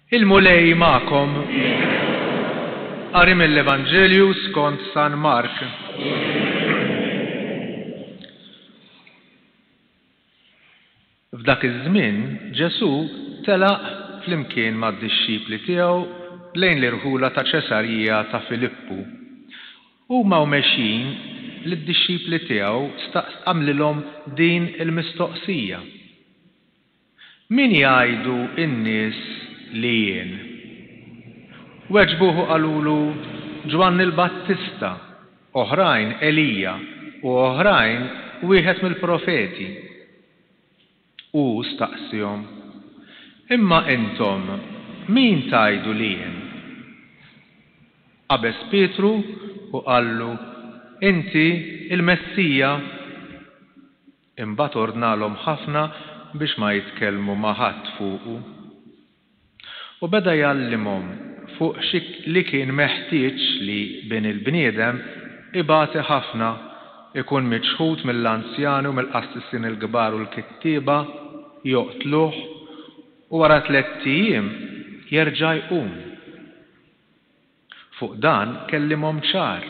Il-Mulej magħkom. Qari mill-Evanġelju skont San Mark. F'dak iż-żmien Ġesù telaq flimkien mad-dixxipli tiegħu lejn l-irħula ta' Ċesarija ta' Filippu. Huma u mexjin, lid-dixxipli tiegħu staqs għamlilhom din il-mistoqsija, Min jgħidu n-nies li jien? Weġbuh u qalulu, Ġwanni l-Battista, oħrajn Elija, u oħrajn wieħed mill-profeti. Hu staqsiehom, Imma intom min tgħidu li jien? Qabeż Pietru u qallu, Inti l-Messija. Imbagħad ordnalhom ħafna biex ma jitkellmu ma' ħadd fuqu. U beda jgħallimhom fuq xi li kien meħtieġ li Bin il-bniedem ibati ħafna, ikun miċħud mill-anzjani u mill-qassisin il-kbar u l-kittieba, joqtluh, u wara tlett ijiem jerġa' jqum. Fuq dan kellimhom ċar.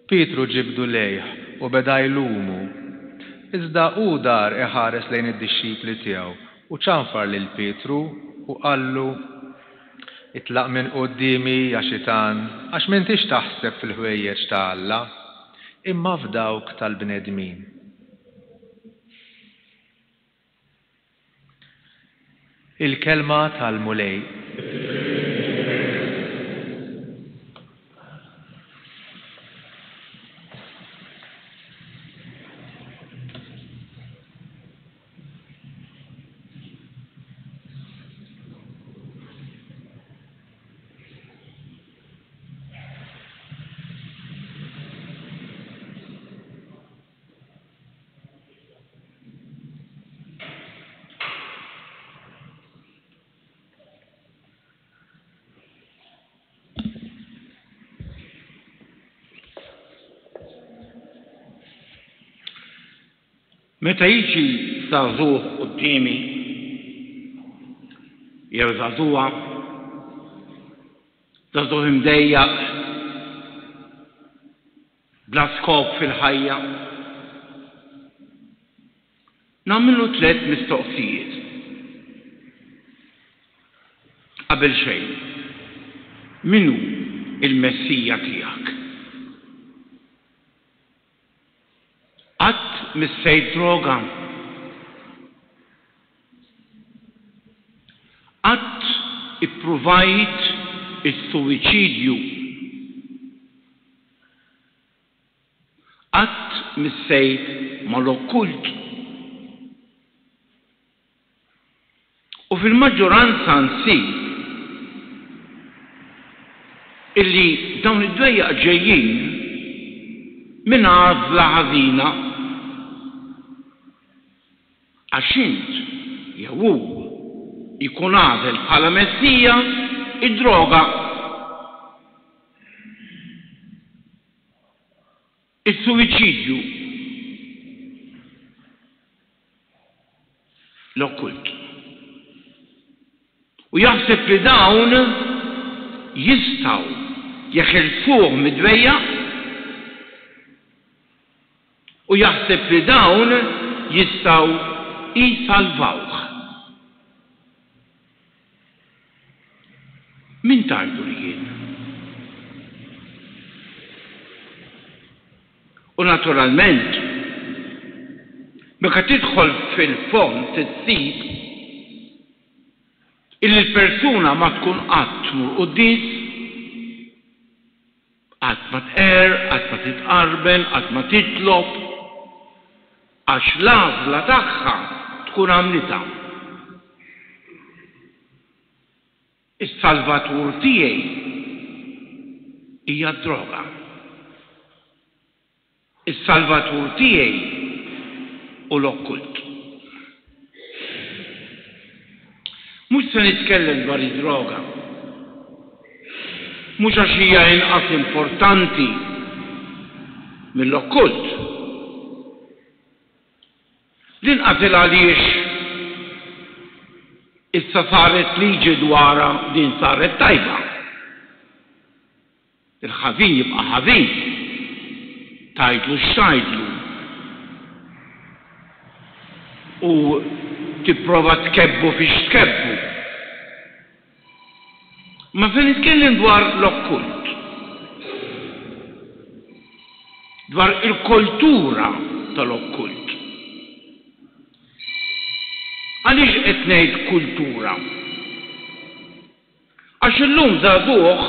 Pietru ġibdu lejh u beda jlumu. Iżda hu dar iħares lejn id-dixxipli tiegħu u ċanfar lil Pietru u qallu, Itlaq minn quddiemi, ja xitan, għax m'intix taħseb fil-ħwejjeġ ta' Alla, imma f'dawk tal-bnedmin. Il-Kelma tal-Mulej. Meta jiġi żagħżugħ quddiemi jew żagħżugħa, żagħżugħ imdejjaq, Bla skop fil-ħajja? Nagħmillu tlett mistoqsijiet. Qabel xejn, min hu l-Messija tiegħek? Qatt missejt droga? Qatt ippruvajt is-suwiċidju? Qatt missejt mal-okkult. U fil-maġġoranza nsib illi dawn id-dwejjaq ġejjin minn għażla ħażina. Għax int, jew hu, jkun għażel bħala Messija d-droga. Is-suwiċidju. L-okkult. U jaħseb li dawn jistgħu jeħilsuh mid-dwejjaq u jaħseb li dawn jistgħu jsalvawh. Min tgħidu li jien? U naturalment, meta tidħol fil-fond issib illi l-persuna ma tkun qatt tmur quddies, Qatt ma tqerr, qatt ma titqarben, qatt ma titlob, għax l-għażla tagħha tkun għamlitha. Is-salvatur tiegħi hija d-droga. Is-Salvatur tiegħi hu l-okkult. Mhux se nitkellem dwar id-droga. Mhux għax hija inqas importanti mill-okkult. L-inqas il għaliex. Issa saret liġi dwarha din saret tajba. Il-ħażin jibqa' ħażin. Tgħidlu x'tgħidlu. U tipprova tkebbu fiex tkebbu. Ma se nitkellem dwar l-okkult. Dwar il-kultura tal-okkult. Għaliex qed ngħid kultura? Għax illum żagħżugħ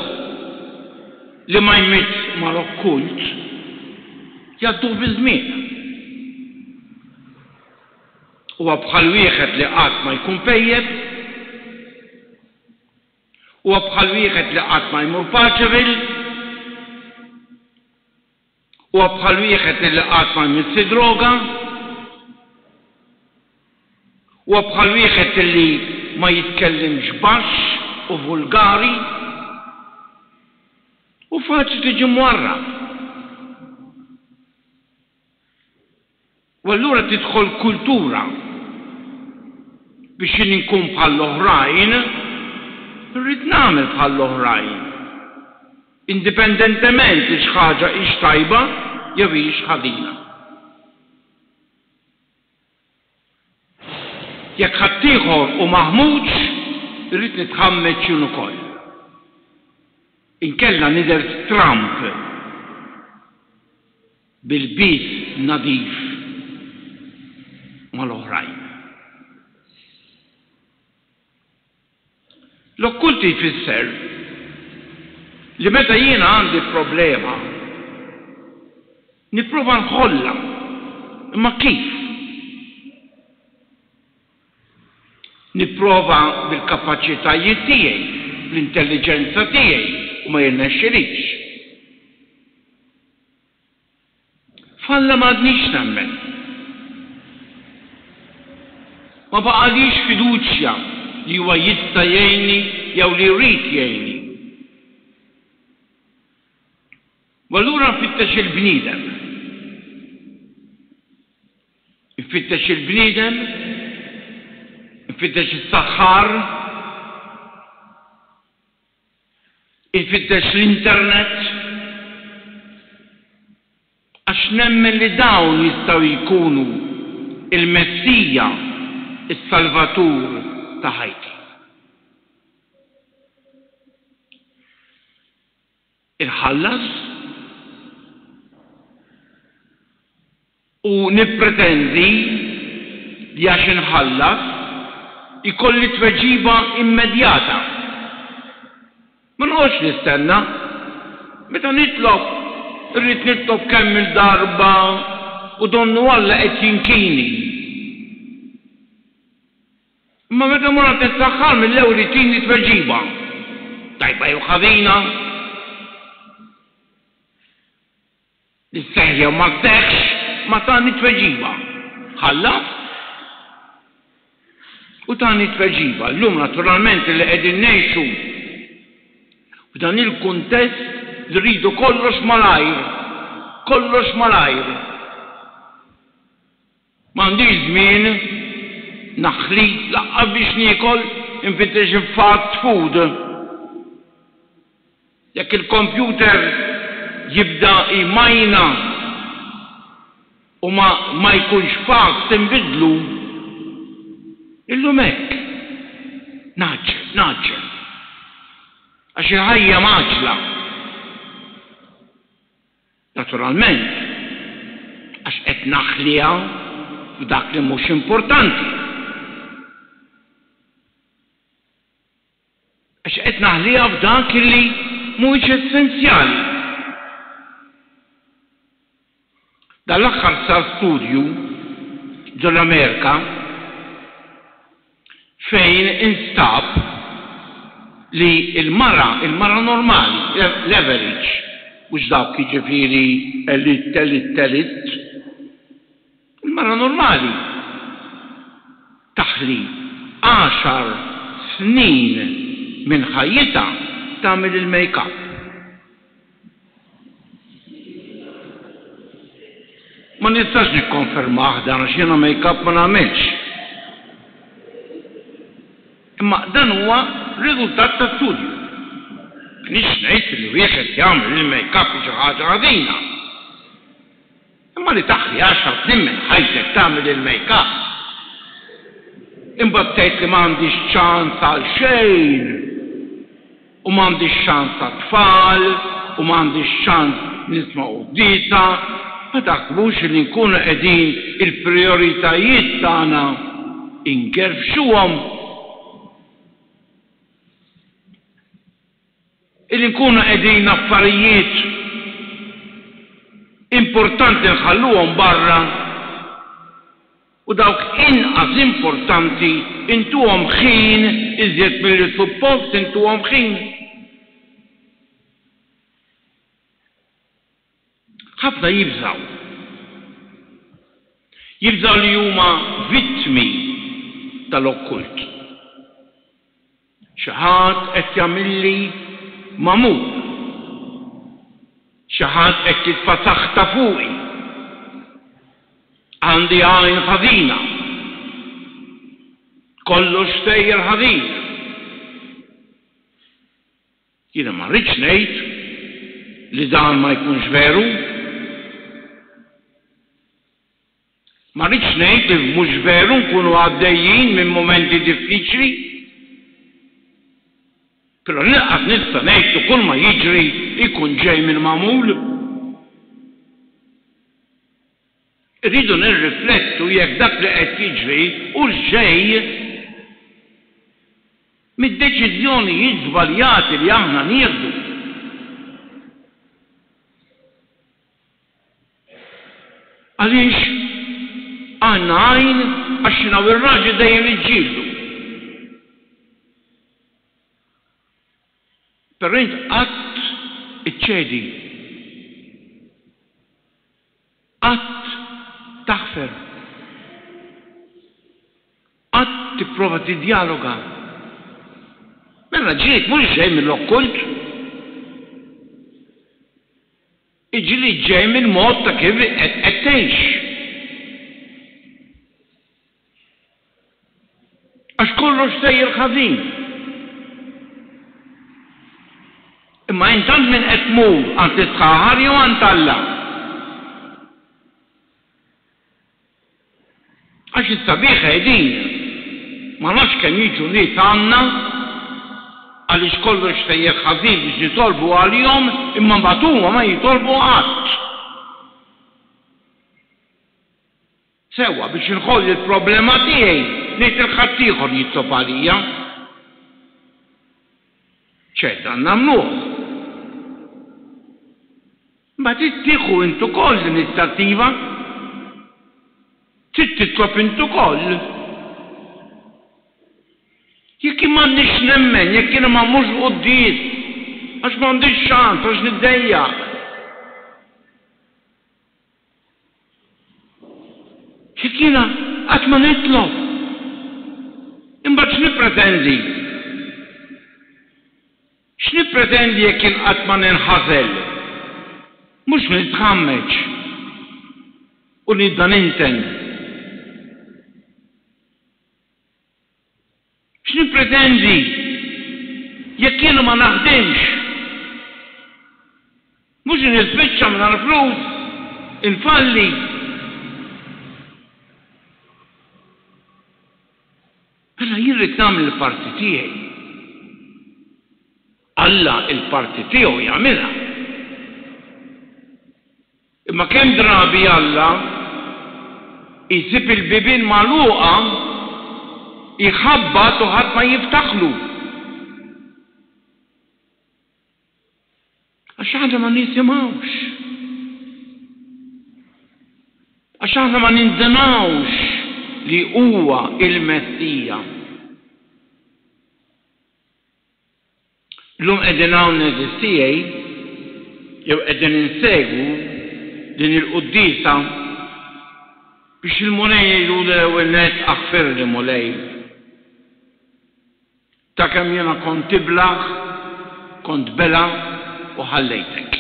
li ma jmiss mal-okkult jgħadduh biż-żmien. Huwa bħal wieħed li qatt ma jkun pejjep, huwa bħal wieħed li qatt ma jmur Paceville, Huwa bħal wieħed li qatt ma jmiss id-droga. Huwa bħal wieħed li ma jitkellimx baxx u vulgari. U faċli tiġi mwarrab. U allura tidħol kultura biex jien inkun bħall-oħrajn, irrid nagħmel bħall-oħrajn. Indipendentement li xi ħaġa hix tajba jew hix ħażina. Jekk ħaddieħor hu maħmuġ, irrid nitħammeġ jien ukoll. Inkella nidher stramb b'ilbies nadif mal-oħrajn. L-okkulti jfisser li meta jiena għandi problema, nipprova nħollha, imma kif? Nipprova bil-kapaċitajiet tiegħi, bl-intelliġenza tiegħi u ma jirnexxilix. F'Alla m'għadnix nemmen. Ma baqagħlix fiduċja li huwa jista' jgħinni jew li jrid jgħinni. U allura nfittex il-bniedem. Nfittex il-bniedem, nfittex is-saħħar, Infittex l-internet għax nemmen li dawn jistgħu jkunu l-Messija, is-Salvatur ta' ħajti. Inħallas u nippretendi li għax inħallas ikolli tweġiba immedjata. Ma noqgħodx nistenna. Meta nitlob, irrid nitlob kemm-il darba u donnu Alla qed jinkini. Imma meta mmur għand is-saħħar mill-ewwel itini tweġiba, tajba jew ħażina, li sseħħ jew ma sseħħx, ma tani tweġiba. Ħallas u tani tweġiba. Llum naturalment li qegħdin ngħixu f'dan il-kuntest li rridu kollox malajr, kollox malajr. M'għandix żmien naħli lanqas biex niekol, infittex il-fast food. Jekk il-kompjuter jibda jmajna u ma ma jkunx fast inbiddlu. Illum hekk. Ngħaġġel, ngħaġġel. Għax il-ħajja mgħaġġla. Naturalment, għax qed naħliha f'dak li mhux importanti. Għax qed naħliha f'dak li mhuwiex essenzjali. Dan l-aħħar sar studju ġol-Amerika fejn instab li l-mara, il-mara normali, l-average, mhux dawk jiġifieri elite, elite, elite, il-mara normali taħli għaxar snin minn ħajjitha tagħmel il-make-up. Ma nistax nikkonfermah dan għax jiena make-up ma nagħmilx. Imma dan huwa riżultat ta' studju. M'iniex ngħid li wieħed jagħmel il-make-up hi xi ħaġa ħażina. Imma li taħli għaxar snin minn ħajtek tagħmel il-make-up, imbagħad tgħid li m'għandix ċans għal xejn u m'għandix ċans għat-tfal u m'għandix ċans nisma' quddiesa, ma taħsbux li nkunu qegħdin il-prijoritajiet tagħna ingerfxuhom? Illi nkunu qegħdin affarijiet importanti nħalluhom barra u dawk inqas importanti intuhom ħin iżjed milli suppost intuhom ħin. Ħafna jibżgħu. Jibżgħu li huma vittmi tal-okkult. Xi ħadd qed jagħmilli magħmul. Xi ħadd qed jitfa' saħta fuqi. Għandi għajn ħażina. Kollox sejjer ħażin. Jiena ma rridx ngħid li dan ma jkunx veru. Ma rridx ngħid li mhux veru nkunu għaddejjin minn mumenti diffiċli. Però lanqas nista' ngħid li kull ma jiġri jkun ġej mill-magħmul. Irridu nirriflettu jekk dak li qed jiġri hux ġej mid-deċiżjonijiet żbaljati li aħna nieħdu. Għaliex għandna għajn għax jiena u r-raġel dejjem niġġieldu. Però int qatt iċċedi. Qatt taħfer. Qatt tipprova tiddjaloga. Mela ġlied mhux ġej mill-okkult. Il-ġlied ġej mill-mod ta' kif qed tgħix. Għax kollox sejjer ħażin. Imma int għand min qed tmur, għand is-sħaħar jew għand Alla? Għax is-sabiħ qegħdin. Ma nafx kemm jiġu nies għandna għaliex kollox sejjer ħażin biex nitolbu għalihom imma mbagħad huma ma jitolbu qatt. Sewwa, biex inħoll il-problema tiegħi ngħid lil ħaddieħor jitlob għalija. Ċert dan nagħmluh. Imma trid tieħu int ukoll l-inizjattiva. Trid titlob int ukoll. Jekk jien m'għandix nemmen, jekk jiena ma mmurx quddies, għax m'għandix ċans, għax niddejjaq. Jekk jiena qatt ma nitlob, imbagħad x'nippretendi? X'nippretendi jekk jien qatt ma ninħasel? Mhux nitħammeġ u nibda ninten. X'nippretendi jekk jiena ma naħdimx? Mhux li nispiċċa mingħajr flus, infalli. Mela jien rrid nagħmel il-parti tiegħi. Alla il-parti tiegħu jagħmilha. Imma kemm drabi Alla jsib il-bibien magħluqa, jħabbat u ħadd ma jiftaħlu. Għax aħna ma nisimgħux. Għax aħna ma nindunawx li huwa il-Messija. Illum qegħdin hawn għeżież tiegħi jew qegħdin insegwu din il-quddiesa biex il-Mulej ngħidulu l-ewwel nett aħfirli Mulej. Ta' kemm jiena kont iblah, kont bela u ħallejtek.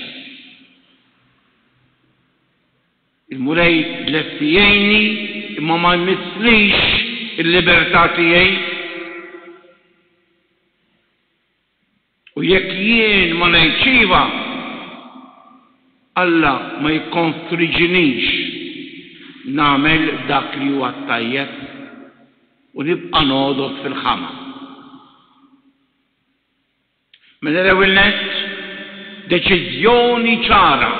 Il-Mulej lest jgħinni imma ma jmisslix il-libertà tiegħi. jekk jien ma ngħidx iva, Alla ma jikkonstriġinix nagħmel dak li huwa t-tajjeb u nibqa' nogħdos fil-ħama. Mela l-ewwel nett, deċiżjoni ċara,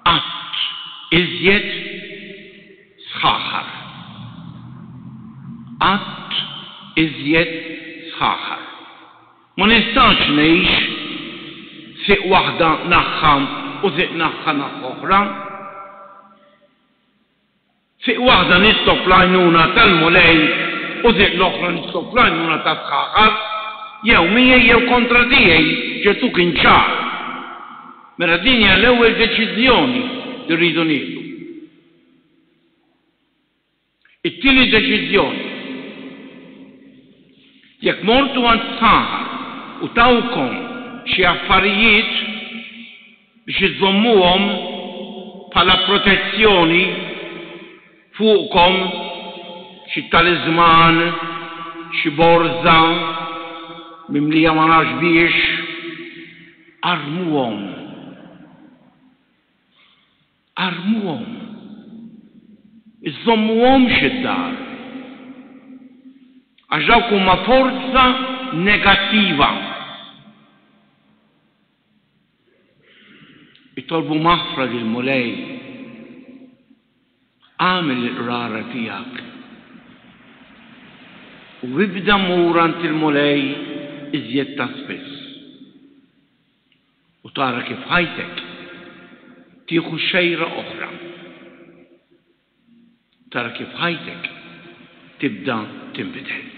qatt iżjed sħaħar. Qatt iżjed sħaħar. Ma nistax ngħix sieq waħda naħħa u sieq naħħa naħħa oħra. Sieq waħda nitlob l-għajnuna tal-Mulej u sieq l-oħra nitlob l-għajnuna tas-sħaħar, jew miegħi jew kontra tiegħi, Ġesù kien ċar. Mela din hija l-ewwel deċiżjoni li rridu nieħdu. It-tieni deċiżjoni, Jekk mortu għand sħaħar u tawkom xi affarijiet biex iżżommuhom bħala protezzjoni fuqkom, xi taliżman, xi borża mimlija ma nafx biex, armuhom. Armuhom. Iżżommuhomx id-dar. Għax dawk huma forza negattiva. Itolbu maħfra lill-Mulej. Agħmel il-qrara tiegħek. U ibda mur għand il-Mulej iżjed ta' spiss. U tara kif ħajtek tieħu xejra oħra. Tara kif ħajtek tibda tinbidel.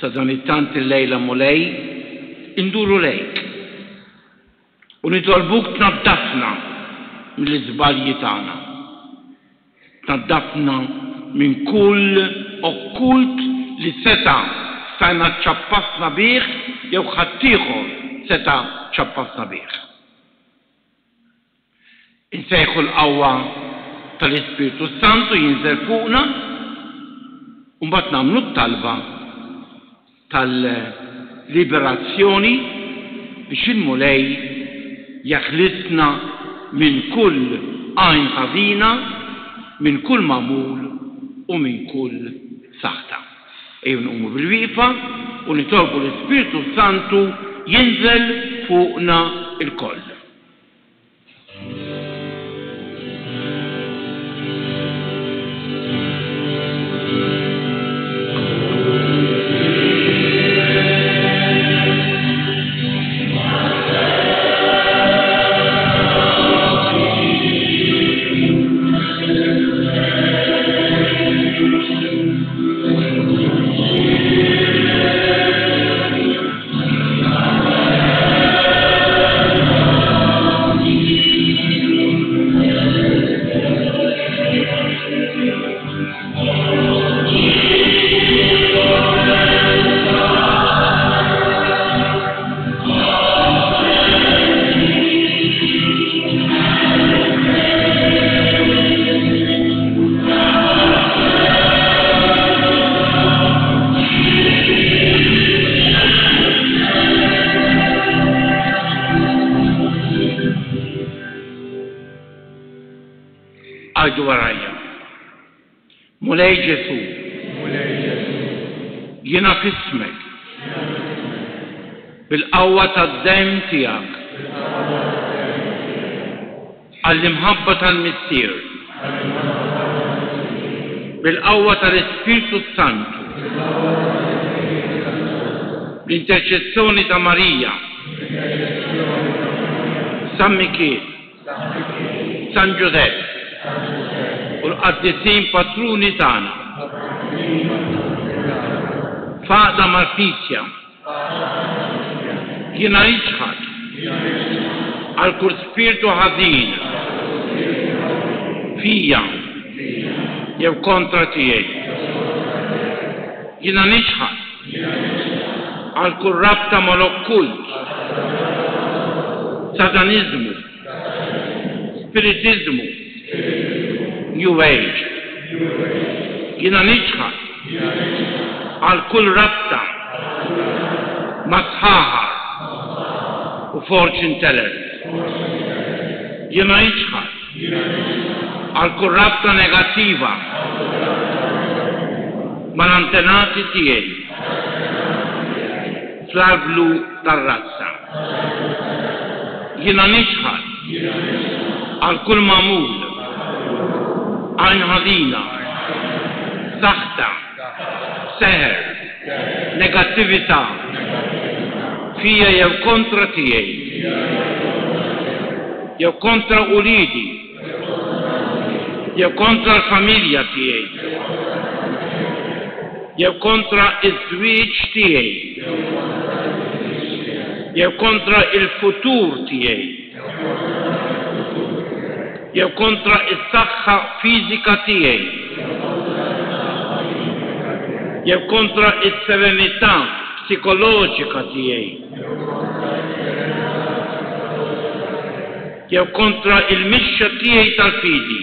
Sadanittant illejla Mulej induru lejk u nitolbuk tnaddafna mill-iżbalji tagħna. Tnaddafna minn kull okkult li seta' stajna ċċappasna bih jew ħaddieħor seta' ċappasna bih. Insejħu l-qawwa tal-Ispirtu s-Santu jinżel fuqna u mbagħad nagħmlu t-talba tal-liberazzjoni biex il-Mulej jeħlisna minn kull għajn ħażina, minn kull magħmul u minn kull saħta. Ejjew nqumu bil-wieqfa u nitolbu l-Ispirtu s-Santu jinżel fuqna lkoll. Għidu warajja. Mulej Ġesù. Jiena f'ismek. Bil-qawwa tad-demm tiegħek. Għall-imħabba tal-Missier. Bil-qawwa tal-Ispirtu s-Santu. Bl-interċessjoni ta' Marija. San Mikiel. San Ġużepp. U l-qaddisin patruni tagħna. F'għaqda mal-Knisja. Jiena niċħad għal kull spirtu ħażin fija jew kontra tiegħi. Jiena niċħad għal kull rabta mal-okkult, sataniżmu, spiritiżmu, New Age. Jiena niċħad għal kull rabta. Mas-sħaħar u fortune tellers. Jiena niċħad għal kull rabta negattiva mal-antenati tiegħi fl-arblu tar-razza. Jiena niċħad għal kull magħmul, għajn ħażina, saħta, seħer, negattività, fija jew kontra tiegħi, jew kontra uliedi, jew kontra l-familja tiegħi, jew kontra ż-żwieġ tiegħi, jew kontra l-futur tiegħi, jew kontra s-saħħa fiżika tiegħi, jew kontra s-serenità psikoloġika tiegħi, jew kontra l-mixja tiegħi tal-fidi,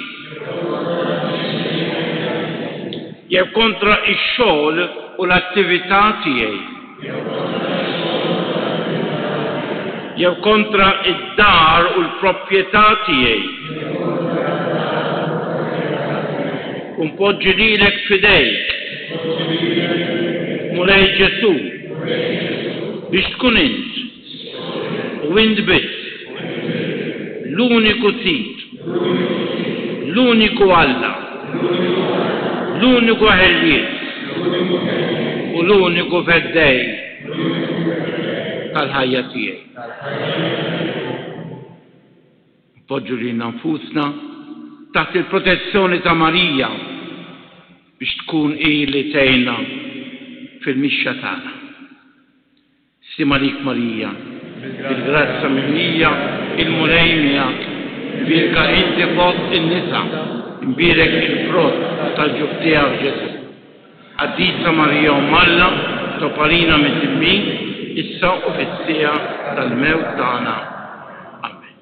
jew kontra x-xogħol u l-attività tiegħi, jew kontra d-dar u l-proprjetà tiegħi. U npoġġi lilek f'idejk, Mulej Ġesù, biex tkun int U int biss, l-uniku Sid, l-uniku Alla, l-uniku Ħellies u l-uniku Feddej tal-ħajja tiegħi. Npoġġu lilna nfusna taħt il-protezzjoni ta' Marija biex tkun hi li tgħinna fil-mixja tagħna. Sliem għalik Marija, bil-grazzja mimlija, il-Mulej miegħek, imbierka inti fost in-nisa, imbierek il-frott tal-ġuf tiegħek Ġesù. Qaddisa Marija Omm Alla, itlob għalina midinbin, issa u fis-siegħa tal-mewt tagħna. Amen.